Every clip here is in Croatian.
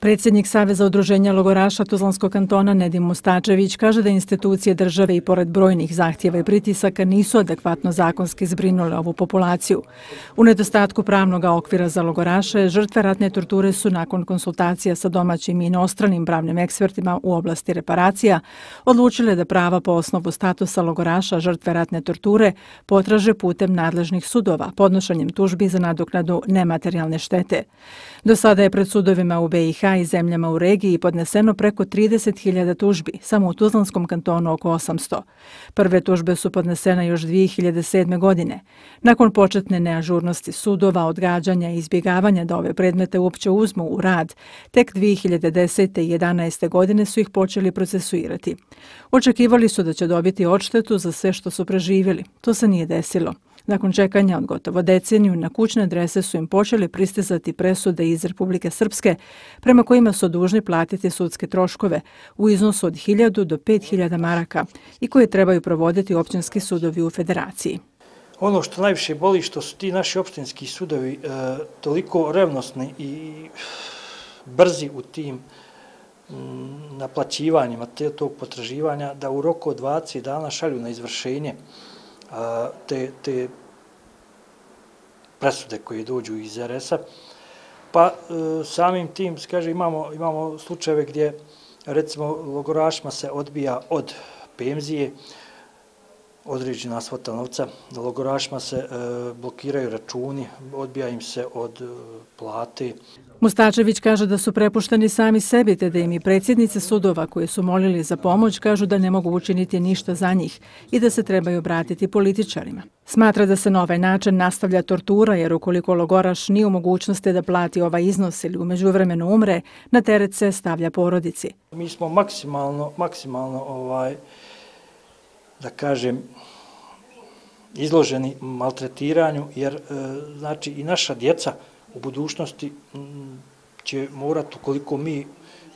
Predsjednik Saveza udruženja logoraša Tuzlanskog kantona Nedim Mustačević kaže da institucije države i pored brojnih zahtjeva i pritisaka nisu adekvatno zakonski zbrinule ovu populaciju. U nedostatku pravnog okvira za logoraše, žrtve ratne torture su nakon konsultacija sa domaćim i inostranim pravnim ekspertima u oblasti reparacija odlučile da prava po osnovu statusa logoraša žrtve ratne torture potraže putem nadležnih sudova, podnošenjem tužbi za nadoknadu nematerijalne štete. Do sada je pred sudovima u BiH i zemljama u regiji podneseno preko 30.000 tužbi, samo u Tuzlanskom kantonu oko 800. Prve tužbe su podnesene još 2007. godine. Nakon početne neažurnosti sudova, odgađanja i izbjegavanja da ove predmete uopće uzmu u rad, tek 2010. i 2011. godine su ih počeli procesuirati. Očekivali su da će dobiti odštetu za sve što su preživjeli. To se nije desilo. Nakon čekanja od gotovo deceniju, na kućne adrese su im počeli pristizati presude iz Republike Srpske, prema kojima su dužni platiti sudske troškove u iznosu od 1000 do 5000 maraka i koje trebaju provoditi općinski sudovi u federaciji. Ono što najviše boli što su ti naši opštinski sudovi toliko revnosni i brzi u tim naplaćivanjima tog potraživanja da u roku od 20 dana šalju na izvršenje te presude koje dođu iz RS-a. Pa samim tim, imamo slučajeve gdje recimo logorašima se odbija od penzije određena svota novca, logorašima se blokiraju računi, odbija im se od plate. Mustačević kaže da su prepušteni sami sebi, te da im i predsjednice sudova koji su molili za pomoć kažu da ne mogu učiniti ništa za njih i da se trebaju obratiti političarima. Smatra da se na ovaj način nastavlja tortura, jer ukoliko logoraš nije u mogućnosti da plati ovaj iznos ili u međuvremenu umre, na teret se stavlja porodici. Mi smo maksimalno da kažem, izloženi maltretiranju, jer znači i naša djeca u budućnosti će morati, ukoliko mi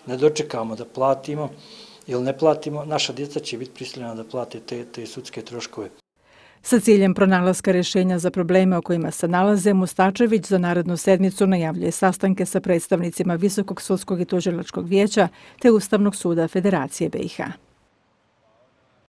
ne dočekamo da platimo ili ne platimo, naša djeca će biti prisiljena da plate te sudske troškove. Sa ciljem pronalaska rješenja za probleme o kojima se nalaze, Mustačević za narednu sedmicu najavljuje sastanke sa predstavnicima Visokog sudskog i tužilačkog vijeća te Ustavnog suda Federacije BiH.